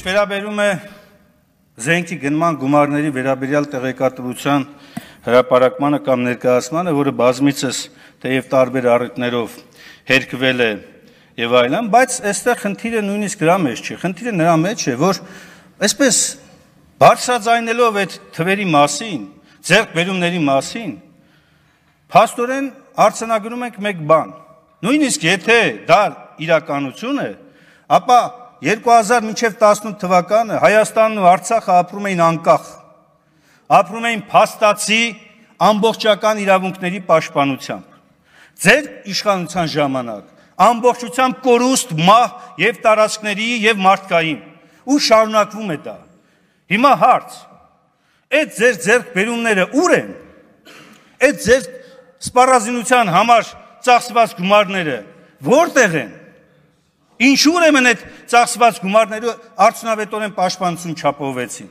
Վերաբերում է զենքի գնման գումարների վերաբերյալ տեղեկատվության հրապարակմանը կամ ներկայացմանը, որը բազմիցս թեև տարբեր առիթներով հերկվել է եւ այլն, բայց այստեղ խնդիրը նույնիսկ դրա մեջ չի, խնդիրը նրա մեջ է, որ այսպես բարձրաձայնելով այդ թվերի մասին, ձեռքբերումների մասին, փաստորեն արձանագրում ենք մեկ բան, նույնիսկ եթե դա իրականություն է, ապա 2000 մինչև 18 թվականը Հայաստանն ու Արցախը ապրում էին անկախ, ապրում էին փաստացի ամբողջական իրավունքների պաշտպանությամբ։ Ձեր իշխանության ժամանակ ամբողջությամբ կորուստ, մահ եւ տարածքների եւ մարդկային ու շարունակվում է դա։ Հիմա հարց. այդ ձեր ձեռքբերումները ուր են։ Այդ ձեր սպառազինության համար ծախսված գումարները որտեղ են։ Ինչու ուրեմն այդ ծախսված գումարները արդյունավետորեն պաշտպանություն չապահովեցին։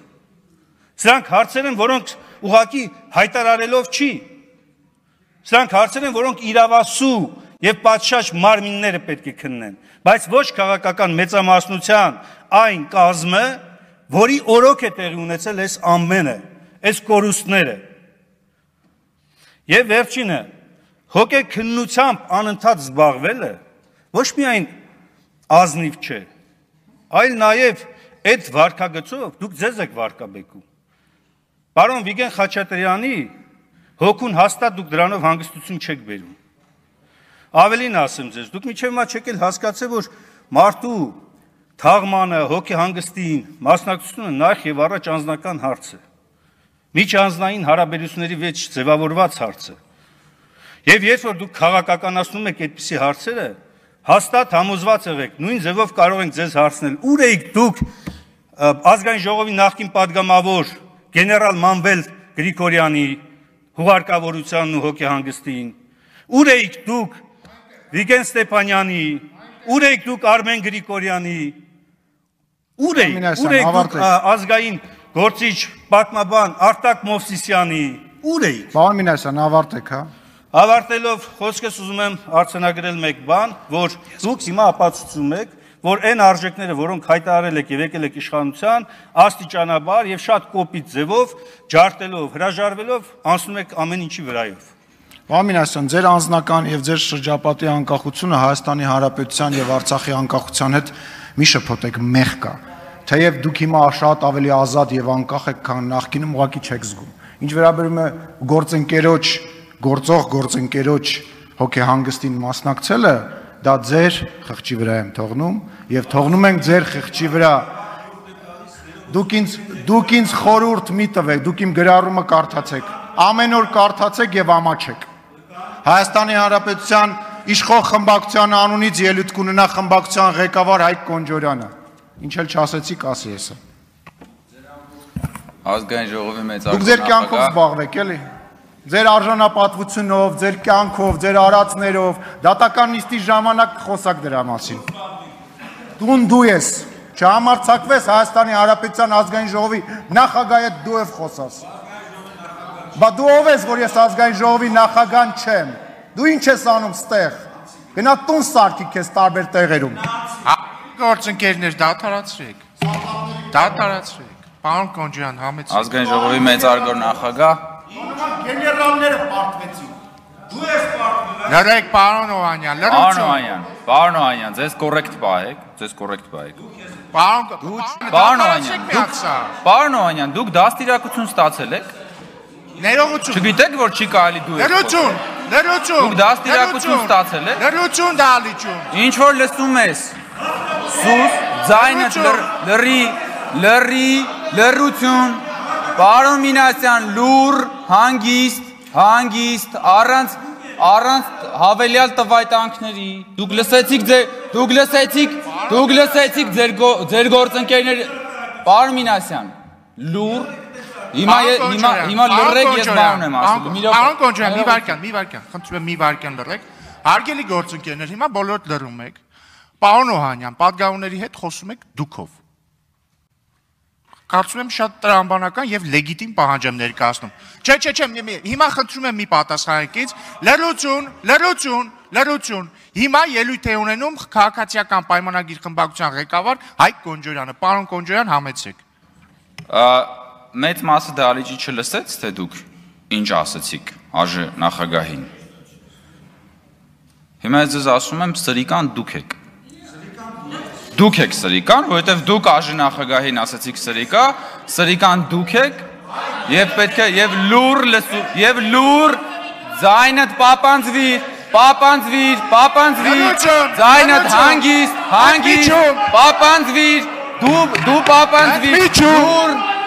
Սրանք հարցեր են, որոնք ուղղակի հայտարարելով չի։ Սրանք հարցեր են, որոնք իրավասու եւ պատշաճ մարմինները պետք է քննեն, բայց ոչ քաղաքական մեծամասնության այն կազմը, որի օրոք է տեղի ունեցել այս ամենը, այս կորուստները։ Եվ վերջինը, հոգեքննությամբ անընդհատ զբաղվելը ոչ միայն ազնիվ չէ, այլ նաև այդ վարքագծով դուք ձեզ եք վարկաբեկում։ Պարոն Վիգեն Խաչատրյանի հոգուն հաստատ դուք դրանով հանգստություն չեք բերում։ Ավելին ասեմ ձեզ, դուք մինչև հիմա չեք էլ հասկացել, որ մարդու թաղմանը, հոգեհանգստին, մասնակցությունը նախ եւ առաջ անձնական հարց է։ Միջանձնային հարաբերությունների մեջ ձևավորված հարց է։ Եվ երբ որ դուք քաղաքականացնում եք այդպիսի հարցերը, հաստատ համոզված եղեք, նույն ձևով կարող ենք ձեզ հարցնել, ուր էիք դուք ազգային ժողովի նախկին падգամավոր գեներալ Մանվել Գրիգորյանի հուղարկավորությանն ու հոգեհանգստին, ուր էիք դուք Վիգեն Ստեփանյանի, ուր էիք դուք Արմեն Գրիգորյանի, ուր էիք դուք ազգային գործիչ պատմաբան Արտակ Մովսիսյանի, ուր էիք։ Պարոն Մինասյան, ավարտեք, հա։ Ավարտելով խոսքս ուզում եմ արձանագրել մեկ բան, որ դուք հիմա ապացուցում եք, որ այն արժեքները, որոնք հայտարարել եք եւ եկել եք իշխանության, աստիճանաբար եւ շատ կոպիտ ձևով, ջարդելով, հրաժարվելով անցնում եք ամեն ինչի վրայով։ Պարոն Մինասյան, ձեր անձնական եւ ձեր շրջապատի անկախությունը Հայաստանի Հանրապետության եւ Արցախի անկախության հետ մի շփոթեք մեղ կա։ Թեև դուք հիմա շատ ավելի ազատ եւ անկախ եք, քան նախկինում, ուղղակի չեք զգում։ Ինչ վերաբերում է գործող գործընկերոջ հոգեհանգստին մասնակցելը, դա ձեր խղճի վրա եմ թողնում եւ թողնում ենք ձեր խղճի վրա։ Դուք ինձ խորհուրդ մի տվեք, դուք իմ գրառումը կարդացեք, ամեն օր կարդացեք եւ ամաչեք։ Հայաստանի Հանրապետության իշխող խմբակցության անունից ելույթ կունենա խմբակցության ղեկավար Հայկ Կոնջորյանը։ Ինչ էլ չասեցիք, ասի էսը։ Ազգային ժողովի մեծարգո Դուք ձեր կյանքով զբաղվեք, էլի։ Ձեր արժանապատվությունով, ձեր կյանքով, ձեր արածներով, դատական նիստի ժամանակ խոսակ դրա մասին։ Դու ես, չհամարձակվես Հայաստանի Հանրապետության ազգային ժողովի նախագահի հետ դու ես խոսաս։ Բա դու ով ես, որ ես ազգային ժողովի նախագահ չեմ։ Դու ինչ ես անում ստեղ։ Գնա տուն սարքի քեզ տարբեր տեղերում։ Գործընկերներ, դադարացրեք։ Դադարացրեք։ Պարոն Կոնջյան, համեցեք։ Ազգային ժողովի մեծարգո նախագահ Գեներալները պարտվեցին։ Դու ես պարտվել։ Լրեք, պարոն Օհանյան, լրություն։ Պարոն Օհանյան, ձեզ կոռեկտ պահեք, ձեզ կոռեկտ պահեք։ Պարոն Օհանյան, դուք դաստիարակություն ստացել եք։ Ներողություն։ Չգիտեք, որ չի կարելի դու եք։ Լրություն։ Դուք դաստիարակություն ստացել եք։ Լրություն դալիճում։ Ինչ որ լսում ես։ Սուս, ձայնդ լրություն։ Պարոն Մինասյան, լուր, հանգիստ, առանց հավելյալ տվայտանքների։ Դուք լսեցիք ձեր գործընկերներ։ Պարոն Մինասյան, լուր, հիմա լրեք, ես բան եմ ասում։ Պարոն Կոնջյան, մի վարքան, խնդրում եմ մի վարքան լրեք։ Հարգելի գործընկերներ, հիմա բոլորդ լռում եք։ Պարոն Օհանյան, պատգամավորների հետ խոսում եք դուքով։ Կարծում եմ շատ տրամաբանական եւ լեգիտիմ պահանջ եմ ներկայացնում։ Չէ, հիմա խնդրում եմ մի պատասխանատից, լրություն։ Հիմա ելույթ է ունենում քաղաքացիական պայմանագիր խմբակցության ղեկավար Հայկ Կոնջորյանը։ Պարոն Կոնջորյան, համեցեք։ Մեծ մասը դահլիճի չլսեց, թե դուք ինչ ասացիք ԱԺ նախագահին։ Հիմա ես ձեզ ասում եմ, սրիկան դուք եք։ Դուք եք սրիկան, որովհետև դուք ԱԺ նախագահին ասացիք սրիկան դուք եք, եւ պետք է եւ լուր ձայնդ պապանձվիր, ձայնդ հանգիստ, պապանձվիր, դու պապանձվիր, լուր